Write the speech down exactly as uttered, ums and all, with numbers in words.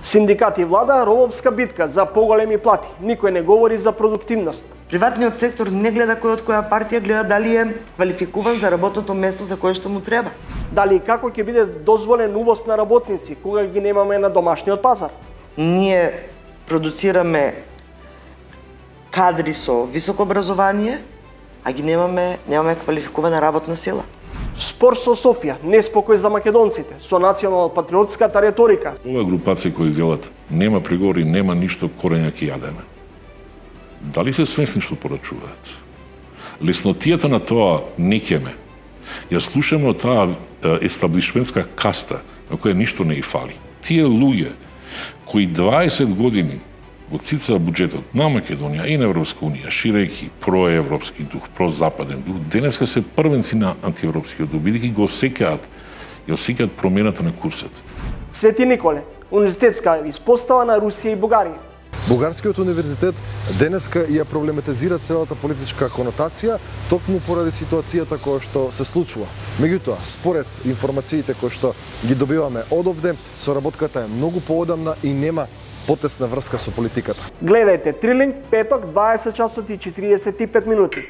Синдикати и влада робовска битка за поголеми плати. Никој не говори за продуктивност. Приватниот сектор не гледа кој од која партија, гледа дали е квалификуван за работното место за кое што му треба. Дали и како ќе биде дозволен увоз на работници кога ги немаме на домашниот пазар? Ние продуцираме кадри со високо образование, а ги немаме, немаме квалификувана работна сила. Спор со Софија, неспокој за македонците, со национал-патриотската реторика. Ова групација кои велат нема преговори, нема ништо, корења ќе јадеме. Дали се свесни што порачуваат? Леснотијата на тоа не ќеме. Ја слушаме од таа естаблишментска каста на која ништо не и фали. Тие луѓе кои дваесет години го цицаа буџетот на Македонија и на Европска унија, ширејќи проевропски дух, прозападен дух, денеска се првенци на антиевропскиот дух, бидејќи го осеќаат и осеќаат промената на курсот. Свети Николе, универзитетска испостава на Русија и Бугарија. Бугарскиот универзитет денеска ја проблематизира целата политичка конотација токму поради ситуацијата која што се случува. Меѓутоа, според информациите кои што ги добиваме одовде, соработката е многу поодамна и нема потесна врска со политиката. Гледајте Трилинг петок дваесет часот и четириесет и пет минути.